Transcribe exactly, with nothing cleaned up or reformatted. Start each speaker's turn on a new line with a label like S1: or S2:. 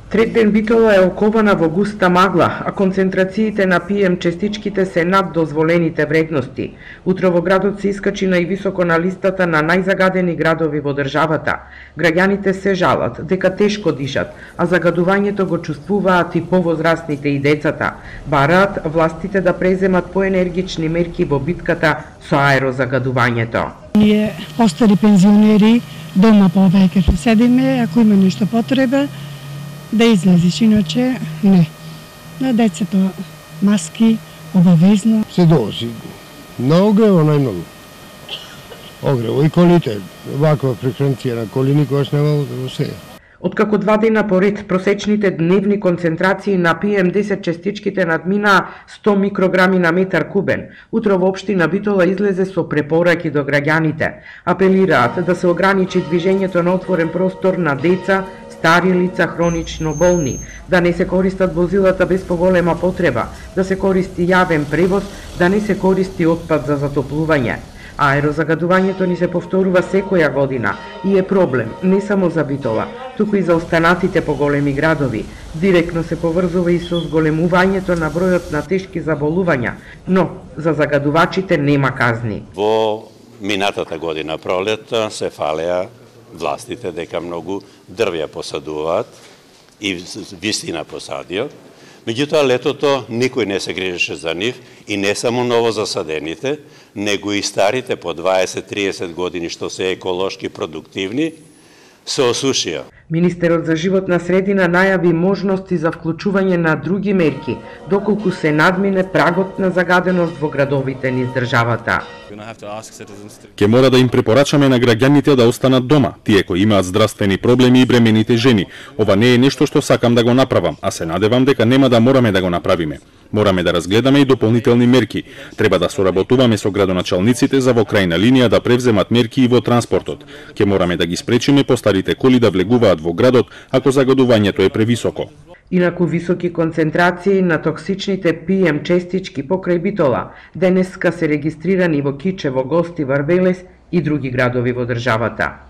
S1: Трет ден Битола е окована во густа магла, а концентрациите на пи ем честичките се над дозволените вредности. Утро во градот се искачи највисоко на листата на најзагадени градови во државата. Граѓаните се жалат дека тешко дишат, а загадувањето го чувствуваат и повозрастните и децата. Бараат властите да преземат поенергични мерки во битката со аерозагадувањето.
S2: Ние постари пензионери дома повеќе седиме, ако има нешто потреба да излезеш, иначе не. На децата маски, обавезно.
S3: Се доси. На огрево најмногу. Огрево и колите. Ваква фреквенција на коли никогаш нема во сега.
S1: Откако два дена поред просечните дневни концентрации на пи ем десет честичките надминаа сто микрограми на метар кубен, утро во општина Битола излезе со препораки до граѓаните. Апелираат да се ограничи движењето на отворен простор на деца, стари лица, хронично болни, да не се користат возилата без поголема потреба, да се користи јавен превоз, да не се користи отпад за затоплување. Аерозагадувањето ни се повторува секоја година и е проблем не само за Битола, туку и за останатите поголеми градови. Директно се поврзува и со зголемувањето на бројот на тешки заболувања, но за загадувачите нема казни.
S4: Во минатата година пролета се фалеа властите дека многу дрвја посадуваат и вистина посадиот. Меѓутоа, летото никој не се грижеше за нив и не само ново засадените, него и старите по дваесет до триесет години што се еколошки продуктивни, се осушија.
S1: Министерот за животна средина најави можности за вклучување на други мерки, доколку се надмине прагот на загаденост во градовите низ државата.
S5: Ке мора да им препорачаме на граѓаните да останат дома, тие кои имаат здравствени проблеми и бремените жени. Ова не е нешто што сакам да го направам, а се надевам дека нема да мораме да го направиме. Мораме да разгледаме и дополнителни мерки. Треба да соработуваме со градоначалниците за во крајна линија да превземат мерки и во транспортот. Ке мораме да ги спречиме постарите коли да влегуваат во градот ако загадувањето е превисоко.
S1: Инаку високи концентрации на токсичните пи ем честички покрај Битола денеска се регистрирани во Кичево, Гости, Варвелес и други градови во државата.